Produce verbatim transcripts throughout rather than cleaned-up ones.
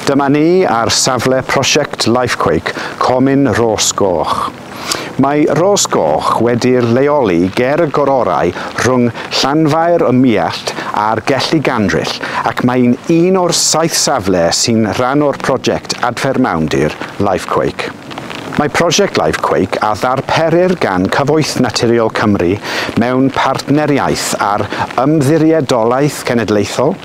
Dyma ni ar safle prosiect Lifequake, Comin Rhos-goch. Mae Rhos-goch wedi'r leoli ger y gororau rhwng Llanfair y Muallt a'r Gelli Gandryll, ac mae'n un o'r saith safle sy'n rhan o'r prosiect Adfer Mawndir Lifequake. Mae prosiect Lifequake a ddarperir gan Cyfoeth Naturiol Cymru mewn partneriaeth â'r Ymddiriedolaeth Cenedlaethol,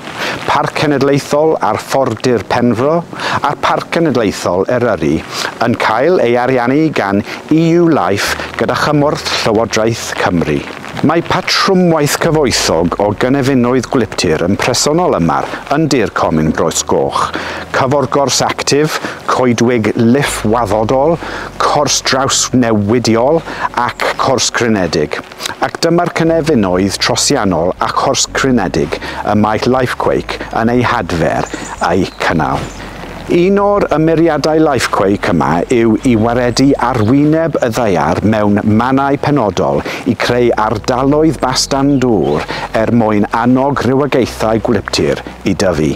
Parc Cenedlaethol Arfordir Penfro a'r Parc Cenedlaethol Eryri yn cael ei ariannu gan E U Life gyda chymorth Llywodraeth Cymru. Mae patrwmwaith cyfoethog o gynefinoedd gwlyptir yn presennol yma yn dir Comin Rhos-goch. Cyforgors actif, coedwig liff-waddodol, cors drawsnewidiol ac cors crynedig. Ac dyma'r cynefinoedd trosiannol a chors crynedig y mae Lifequake yn ei hadfer a'i cynnal. Un o'r ymyriadau Lifequake yma yw i waredu arwyneb y ddaear mewn mannau penodol i creu ardaloedd bastan dŵr er mwyn annog rhywogaethau gwlyptir i dyfu.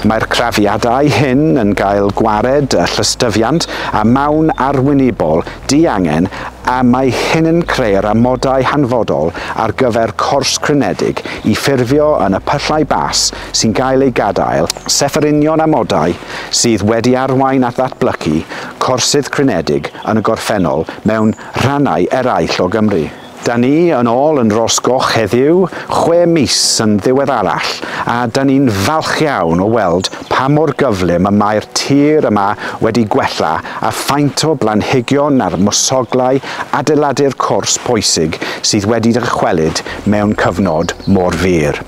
Mae'r crafiadau hyn yn gael gwared y llystyfiant a mawn arwynebol diangen, a mae hyn yn creu'r amodau hanfodol ar gyfer cors crynedig i ffurfio yn y pyllau bas sy'n gael ei gadael, sef yr union amodau sydd wedi arwain at ddatblygu corsydd crynedig yn y gorffennol mewn rhannau eraill o Gymru. Da ni yn ôl yn Rhos-goch heddiw, chwe mis yn ddiweddarach, a da ni'n falch iawn o weld pa mor gyflym y mae'r tir yma wedi gwella a ffaint o blanhigion a'r mwsoglau adeiladu'r cors pwysig sydd wedi dychwelyd mewn cyfnod mor fyr.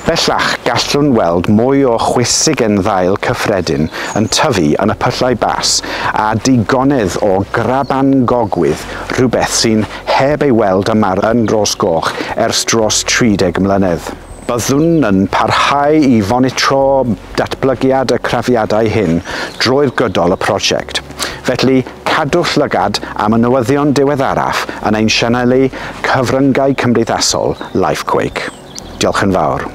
Bellach gallwn weld mwy o chwysigen ddail cyffredin yn tyfu yn y pyllau bas a digonedd o graban gogwydd, rhywbeth sy'n heb ei weld yma yn Rhos-goch ers dros tri deg mlynedd. Byddwn yn parhau i fonitro datblygiad y crafiadau hyn drwy'r gydol y prosiect. Felly, cadwch lygad am y newyddion diweddaraf yn ein sianeli cyfryngau cymdeithasol Lifequake. Diolch yn fawr.